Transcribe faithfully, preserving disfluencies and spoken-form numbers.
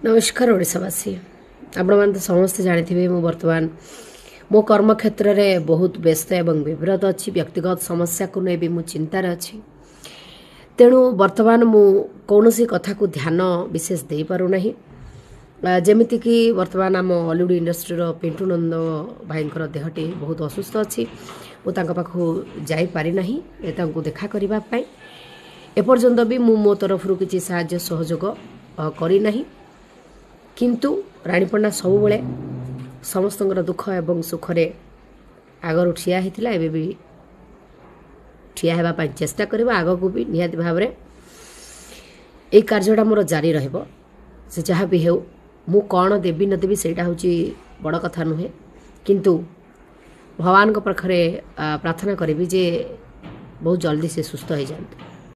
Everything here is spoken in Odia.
ନମସ୍କାର ଓଡ଼ିଶାବାସୀ। ଆପଣମାନେ ତ ସମସ୍ତେ ଜାଣିଥିବେ, ମୁଁ ବର୍ତ୍ତମାନ ମୋ କର୍ମକ୍ଷେତ୍ରରେ ବହୁତ ବ୍ୟସ୍ତ ଏବଂ ବିବ୍ରତ ଅଛି। ବ୍ୟକ୍ତିଗତ ସମସ୍ୟାକୁ ନେଇ ବି ମୁଁ ଚିନ୍ତାରେ ଅଛି। ତେଣୁ ବର୍ତ୍ତମାନ ମୁଁ କୌଣସି କଥାକୁ ଧ୍ୟାନ ବିଶେଷ ଦେଇପାରୁନାହିଁ। ଯେମିତିକି ବର୍ତ୍ତମାନ ଆମ ଅଲିଉଡ଼ ଇଣ୍ଡଷ୍ଟ୍ରିର ପିଣ୍ଟୁ ନନ୍ଦ ଭାଇଙ୍କର ଦେହଟି ବହୁତ ଅସୁସ୍ଥ ଅଛି। ମୁଁ ତାଙ୍କ ପାଖକୁ ଯାଇପାରିନାହିଁ ତାଙ୍କୁ ଦେଖା କରିବା ପାଇଁ। ଏପର୍ଯ୍ୟନ୍ତ ବି ମୁଁ ମୋ ତରଫରୁ କିଛି ସାହାଯ୍ୟ ସହଯୋଗ କରିନାହିଁ। କିନ୍ତୁ ରାଣୀପଣ୍ଡା ସବୁବେଳେ ସମସ୍ତଙ୍କର ଦୁଃଖ ଏବଂ ସୁଖରେ ଆଗରୁ ଠିଆ ହେଇଥିଲା, ଏବେ ବି ଠିଆ ହେବା ପାଇଁ ଚେଷ୍ଟା କରିବ। ଆଗକୁ ବି ନିହାତି ଭାବରେ ଏଇ କାର୍ଯ୍ୟଟା ମୋର ଜାରି ରହିବ। ସେ ଯାହା ବି ହେଉ, ମୁଁ କ'ଣ ଦେବି ନ ଦେବି ସେଇଟା ହେଉଛି ବଡ଼ କଥା ନୁହେଁ, କିନ୍ତୁ ଭଗବାନଙ୍କ ପାଖରେ ପ୍ରାର୍ଥନା କରିବି ଯେ ବହୁତ ଜଲ୍ଦି ସେ ସୁସ୍ଥ ହେଇଯାଆନ୍ତୁ।